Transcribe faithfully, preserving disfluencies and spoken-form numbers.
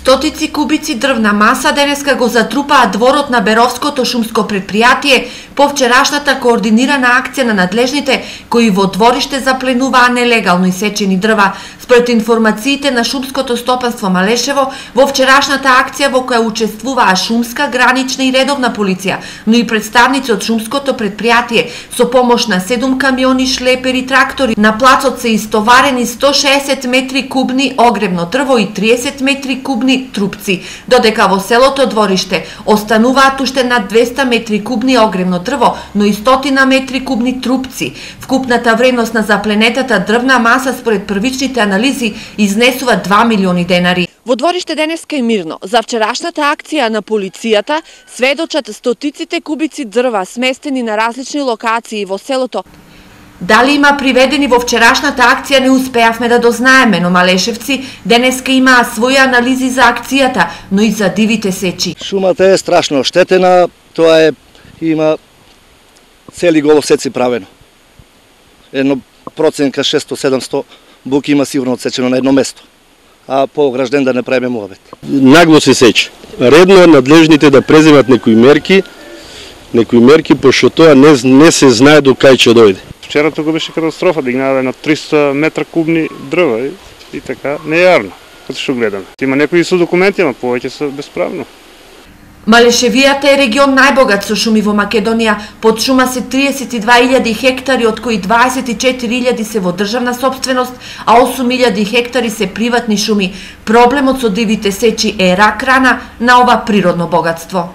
Стотици кубици дрвна маса денеска го затрупаа дворот на Беровското шумско предпријатие по вчерашната координирана акција на надлежните кои во двориште запленуваа нелегално исечени дрва. Според информациите на Шумското стопанство Малешево, во вчерашната акција во која учествуваа шумска, гранична и редовна полиција, но и представници од шумското предпријатие со помош на седум камиони, шлепери, трактори, на плацот се истоварени сто шеесет метри кубни огревно дрво и триесет метри кубни трупци, додека во селото Двориште остануваат уште над двеста метри кубни огревно дрво, но и стотина метри кубни трупци. Вкупната вредност на запленетата дрвна маса според првичните анализи изнесува два милиони денари. Во Двориште денеска е мирно. За вчерашната акција на полицијата сведочат стотиците кубици дрва сместени на различни локации во селото. Дали има приведени во вчерашната акција не успеавме да дознаеме, но малешевци денеска имаа своји анализи за акцијата, но и за дивите сечи. Шумата е страшно оштетена, тоа е има цели головсеци правено. Едно проценка шесто-седамсто буки има сигурно отсечено на едно место, а по огражден да не правиме муабет. Нагло се сече. Редно е надлежните да преземат некои мерки, некои мерки, пошто тоа не, не се знае до кај ќе дојде. Вчера тука беше катастрофа, дигнаве на триста метра кубни дрва и, и така, не е јарно, като што гледаме. Има некои со документи, ама повеќе се бесправно. Малешевијата е регион најбогат со шуми во Македонија. Под шума се триесет и две илјади хектари, од кои дваесет и четири илјади се во државна сопственост, а осум илјади хектари се приватни шуми. Проблемот со дивите сечи е рак рана на ова природно богатство.